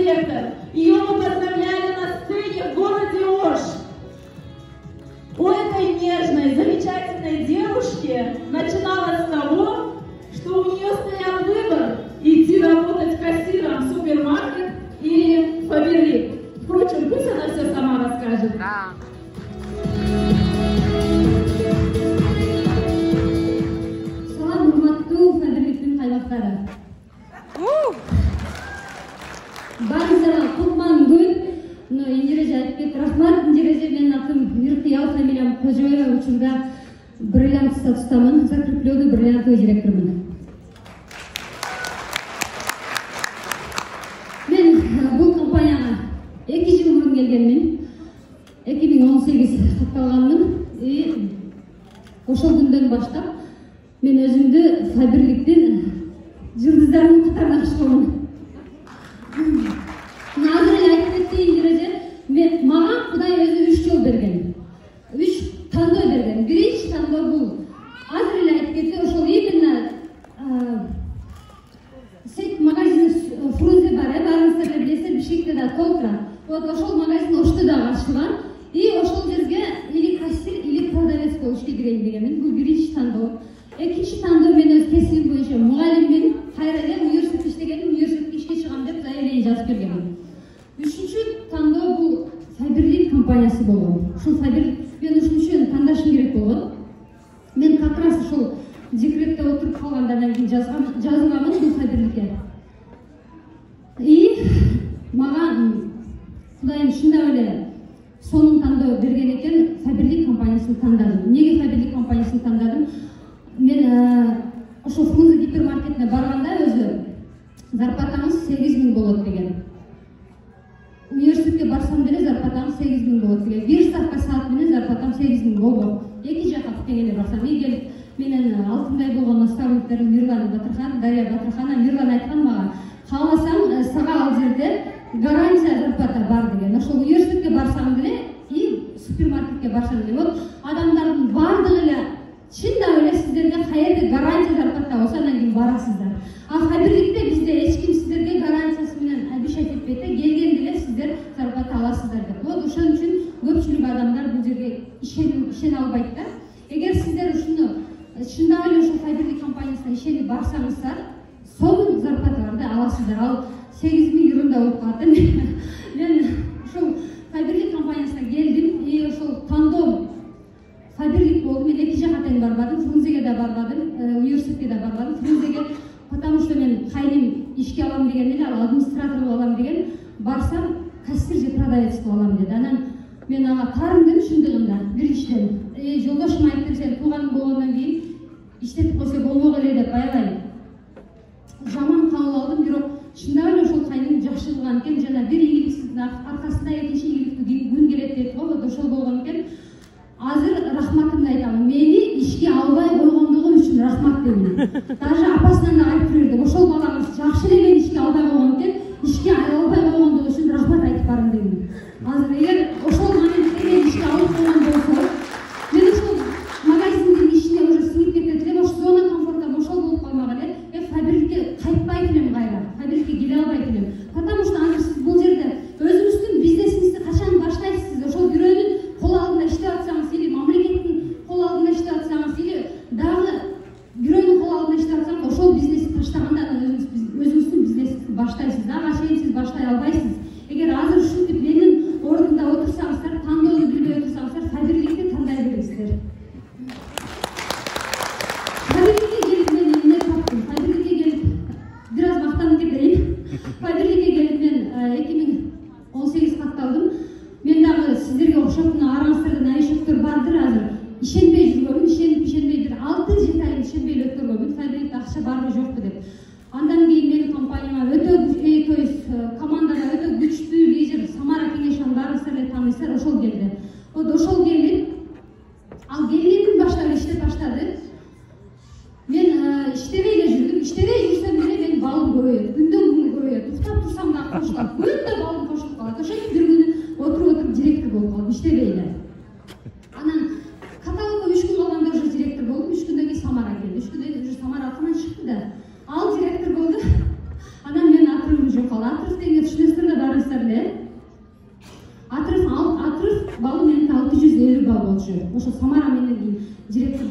директор. Ее мы поздравляли на сцене в городе Ош. У этой нежной, замечательной девушки начиналось с того, что у нее стоял выбор идти работать кассиром в супермаркет или Фаберлик. Впрочем, пусть она все сама расскажет. Да. Салам, урматтуу Фаберликтин кайбактары. Барыңыздарга кутман күн. Индиреже айтып кетти. Рахмат. Индиреже, менин атым Миркиял, фамилиям Кожоева. Учурда бриллиант статустамын. Закреплённый бриллиантовый директормун. Мен бул компанияга 2 жыл мурун келгенмин. 2018 катталганмын. Ошол күндөн баштап мен өзүмдү Фаберликтин жылдыздарынын катарына кышканмын. Азыр эле айтып кетти Индиреже, мага Кудай өзү 3 жол берген. 3 тандоо берген. Биринчи тандоо бул. Азыр эле айтып кетти, ошол именно сет магазин Фрунзе бар, барыңыздар эле билесиздер, Бишкекте да толтура. Вот ошол магазин Ошто да ачылган. И ошол жерге или кассир, или продавец болуш кирейин дегенмин. Бул биринчи тандоо. Экинчи тандоо мен өз кесибим боюнча мугалиммин. Кайра эле университетте иштегенмин, университетке ишке чыгам деп заявление жазып бергенмин. Үчүнчү тандоо бул Фаберлик компаниясы болгон. Ушул Фаберлик мен ушунчу тандашым керек болгон. Мен как раз ушул декретте отуруп калгандан кийин жазылганмын бул Фаберликке. И мага Кудайым шындап эле сонун тандоо берген экен, Фаберлик компаниясын тандадым. Эмнеге Фаберлик компаниясын тандадым? Мен ошол Фрунзе гипермаркетине барганда өзү зарплатаңыз 8000 болот деген. Университетке барсам деле зарплатаңыз 8000 болот деген. Бир ставка саат менен зарплатам 8000 болбок. Эки жака тегеле барсам, келип менен алтындай болгон наставниктерим Мирлан Батырхан, Дарья Батырхана, Мирлан айткан мага, кааласаң сага ал жерде гарантия зарплата бар деген. Ошол университетке барсаң деле и супермаркетке барсаң деле, вот адамдардын бардыгы эле чындап эле сиздерге каерде гарантия зарплата болсо анан кийин барасыздар. А Фаберликте бизде эч ким сиздерге гарантиясы менен обещать этпейт, келген деле сиздер зарплата аласыздар деп. Вот ошон үчүн көпчүлүк адамдар бул жерге ишене албайт да. Эгер сиздер ушуну чындап эле ушул Фаберлик компаниясына ишенип барсаңыздар, сонун зарплаталарды аласыздар. Ал 8000 евро болуп калат. Мен ушул Фаберлик компаниясына келдим и ошол тандоо Фаберлик болду. Мен эки жака тең барбадым, Фрунзеге да барбадым, университетке да барбадым. Фрунзеге потому что мен кайним ишке алам деген эле, ал администратор болуп алам деген, барсам кассир же продавец болуп алам деди. Анан мен ага таарындым шындыгында. Биринчиден, жолдошум айтты, сен тууганың болгондон кийин иштетип койсо болбок эле деп аябай жаман кабыл алдым. Бирок чындап эле ошол кайным жакшы кылган экен. Жана бир ийгиликтин аркасында экинчи ийгиликтүү күн келет дейт го, ошол болгон экен. Азыр рахматымды айтамын. Мени ишке албай койгондугу үчүн рахмат деймин. Даже апасынан да айтып бердим. Ошол балаңыз жакшы эле мени ишке албай койгон экен, ишке албай койгондугу үчүн рахмат айтып барым деймин. Азыр эгер ошол мени ишке алып койгон болсо, мен ошол магазиндин ишине уже сиңип кетет элем, ошол зона комфорта ошол болуп калмак эле. Фаберликке кайтпайт элем кайра. Фаберликке келе албайт элем. Потому что азыр сиз бул жерде өзүңүздүн бизнесиңизди качан баштайсыз? Ошол бирөөнүн кол алдында иштеп атсаңыз или мамлекеттин кол алдында иштеп атсаңыз или дагы бирөөнүн кол алдында иштеп атсаңыз, ошол бизнести таштаганда өзүңүздүн бизнесиңизди баштайсыз. Ага чейин сиз баштай албайсыз. Эгер азыр ушинтип менин ордумда отурсаңыздар, тандоону билбей отурсаңыздар, Фаберликти тандай бериңиздер. Фаберликке келип мен эмне таптым? Фаберликке келип бир аз мактанып кетейин. Фаберликке келип мен 2018 катталдым. Мен дагы сиздерге окшоп араңыздарда новичоктор бардыр азыр. Ишенбей жүргөнмүн, ишенбей бир 6-7 ай ишенбей эле өткөргөнмүн. Фаберликте акча барбы жокпу деп. Андан кийин менин компанияма өтө, то есть командага өтө күчтүү лидер Самара Кеңешовну баарыңыздар эле тааныйсыздар, ошол келди. Вот ошол келип, ал келгенден баштап иштеп баштады. Мен иштебей эле жүрдүм. Иштебей жүрсөм деле менин балым көбөйөт. Күндөн күнгө көбөйөт. Уктап турсам да кошулат. Күндө балым кошулуп калат. Ошентип бир күнү отуруп директор болуп калдым, иштебей эле. Анан каталогго 3 күн калганда уже директор болдум. 3 күндөн кийин Самара келди. 3 күндөн кийин уже Самара атынан чыкты да. Ал директор болду. Анан менин атырыбым жок. Ал атырып деген түшүнөсүздөр да карасаңыздар эле Атырыв баллы менен 650 балл болчу. Ошо Самара менен кийин директор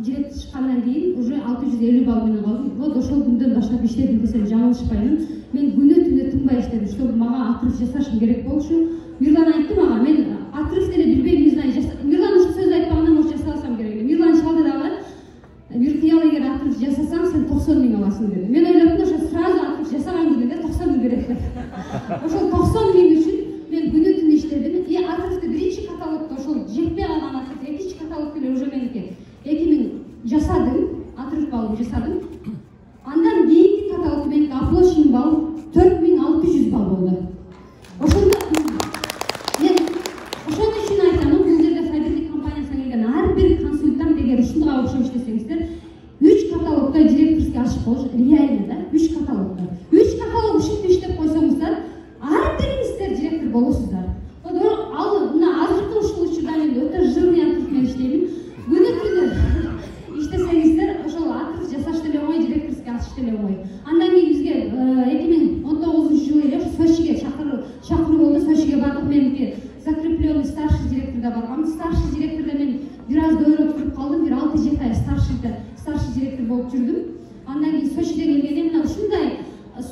чыккандан кийин уже 650 балл менен калдым. Вот ошол күндөн баштап иштедим десем жаңылышпаймын. Мен күнү түнү тынбай иштедим, чтобы мага Атырыв жасашым керек болчу. Мирлан айтты мага, мен Атырыв деле билбейм, не знаю, Мирлан ушул сөздү айтпагандан может жасасам керек эле. Мирлан чалды дагы, Миркиял эгер Атырыв жасасаң, сен 90 миң аласың деди. Мен ойлоптум, ошо сразу Атырыв жасаган күнүндө 90 миң берет деп. Ошол 90 миң үчүн мен күнү түнү иштедим. Атырывды биринчи каталогдо ошол жетпей калган Атырыв, экинчи каталог эле уже меники 2000 жасадым, Атырыв баллы жасадым. Андан кийинки каталогдо меники оплачен балл 4600 балл болду. Ошондо мен ошон үчүн айтам, бул жерде фабрика компаниясына келген ар бир консультант эгер ушунга окшоп иштесеңиздер, 3 каталогдо директорский ачык болуш реально да, 3 каталогдо. 3 каталог ушинтип иштеп койсоңуздар, ар бириңиздер директор болосуздар. Ал мына азыркы ушул учурда мен өтө жирный Атырыв менен иштеймин. Күнү түнү иштесеңиздер, ошол Атырыв жасаш деле оңой, директорский ачыш деле оңой. Андан кийин бизге 2019-жылы эле Сочиге чакыруу болду. Сочиге бардык. Меники закрепленный старший директорда баргам. Старший директорда мен бир аз дойлоп туруп калдым. Бир 6-7 ай старший директор болуп жүрдүм. Андан кийин Сочиде келгенде мына ушундай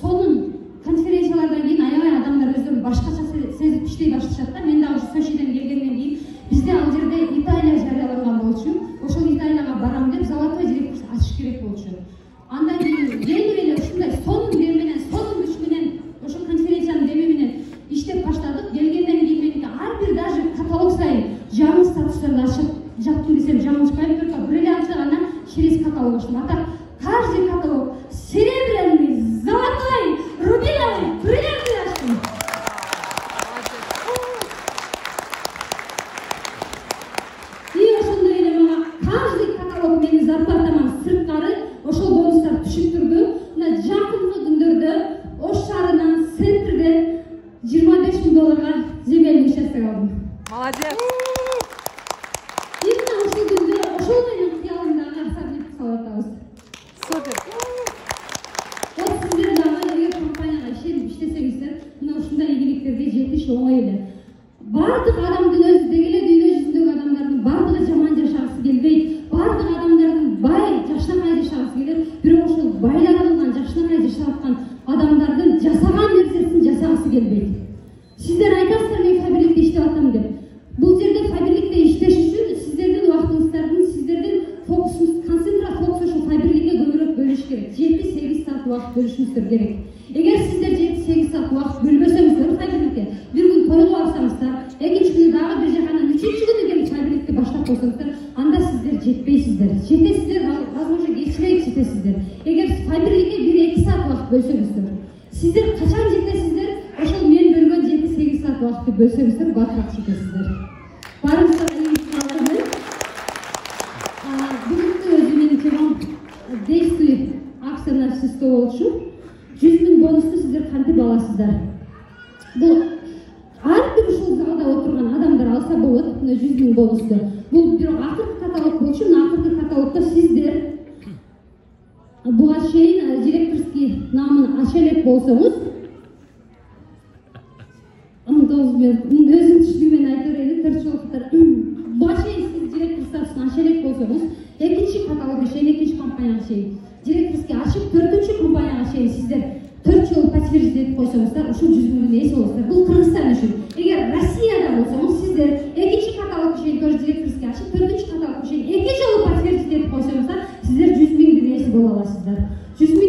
сонун конференциялардан кийин аябай адамдар өздөрүн башкача сезип иштей башташат да. Мен дагы Сочиден келгенден кийин бизде ал жерде Италия жарыяланган болчу. Ошол Италияга барам деп золотой директор ачыш керек болчу. Андан кийин келип эле ушундай сонун дем менен, сонун күч менен ошол конференциянын деми менен иштеп баштадык. Келгенден кийин меники ар бир даже каталог сайын жаңы статустарды ачып жаптым десем жаңылышпайм. Только бир эле ачса гана через каталог ачтым. А так каждый каталог серебряный, золотой, рубиновый, бриллиантовый ачтым. И ошондой эле мага каждый каталог менин зарплатаман сырткары ошол бонустар түшүп турду. Мына жакынкы күндөрдө Ош шаарынан центрден $25,000 земельный участок алдым. Молодец. Именно ошол күндө ошол менен кыялымдагы особняк салып атабыз. Супер. Вот сиздер дагы эгер компанияга ишенип иштесеңиздер, мына ушундай ийгиликтерге жетиш оңой эле. Бардык адамдын өзү дегеле дүйнө жүзүндөгү адамдардын бардыгы жаман жашагысы келбейт. Бардык адамдардын бай, жакшынакай жашагысы келет. Бирок ошол байлар кылган жакшынакай жашап аткан адамдардын жасаган нерсесин жасагысы келбейт. Сиздер айтасыздар, мен фабрикте иштеп атам деп. Бул жерде фабрикте иштеш үчүн сиздердин убактыңыздардын, сиздердин фокусуңуз, концентрат фокус ошол фабрикага көбүрөөк бөлүш керек. 7-8 саат убакыт бөлүшүңүздөр керек. Эгер сиздер 7-8 саат убакыт бөлбөсөңүздөр фабрикте, бир күн тойго барсаңыздар, экинчи күнү дагы бир жаканан, үчүнчү күнү келип фабрикте баштап койсоңуздар, анда сиздер жетпейсиздер. Жетесиздер, возможно, кечирээк жетесиздер. Эгер фабрикага 1-2 саат убакыт бөлсөңүздөр, сиздер качан жетесиздер? Ошол мен бөлгөн 7-8 саат убакытты бөлсөңүздөр, батыраак жетесиздер. Барыңыздар ийгилик. Бүгүнкү өзү менин темам действуй акция общество болчу. 100 000 бонусту сиздер кантип аласыздар? Бул ар бир ушул залда отурган адамдар алса болот, мына 100 000 бонусту. Бул бирок акыркы каталог болчу. Мына акыркы каталогдо сиздер буга чейин директорский намын ача элек болсоңуз, өзүм түшүнүгүмөн айта берейин, төртчүлүктөр. Буга чейин сиз директор статусун ача элек болсоңуз, экинчи каталогго чейин, экинчи компанияга чейин директорский ачып, төртүнчү компанияга чейин сиздер 4 жыл подтверждение этип койсоңуздар, ушул 100 000 ээси болосуздар. Бул Кыргызстан үчүн. Эгер Россияда болсоңуз, сиздер экинчи каталогго чейин тоже директорский ачып, төртүнчү каталогго чейин 2 жыл подтверждение этип койсоңуздар, сиздер 100 000 ээси боло аласыздар. 100 000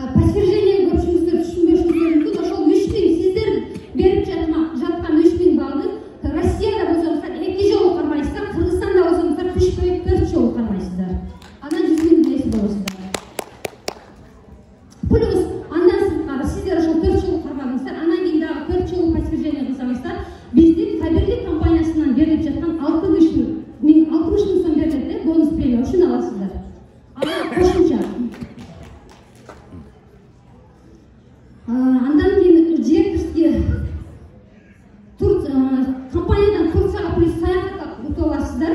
подтверждение көпчүлүктөр түшүнбөшүңүздөр мүмкүн. Ошол 3 000 сиздер берип жаткан 3 000 балды Россияда болсоңуздар 2 жолу кармайсыздар, Кыргызстанда болсоңуздар түшпөй 4 жолу кармайсыздар. Анан 100 000 ээси болосуздар. Плюс андан сырткары сиздер ошол 4 жолу кармадыңыздар, анан кийин дагы 4 жолу подтверждение кылсаңыздар, биздин фабрика компаниясынан берилип жаткан 60 000 сом берилет, бонус премия ушуну аласыздар. Анан кошумча андан кийин директорский компаниядан Турцияга плюс саякатка утуп аласыздар.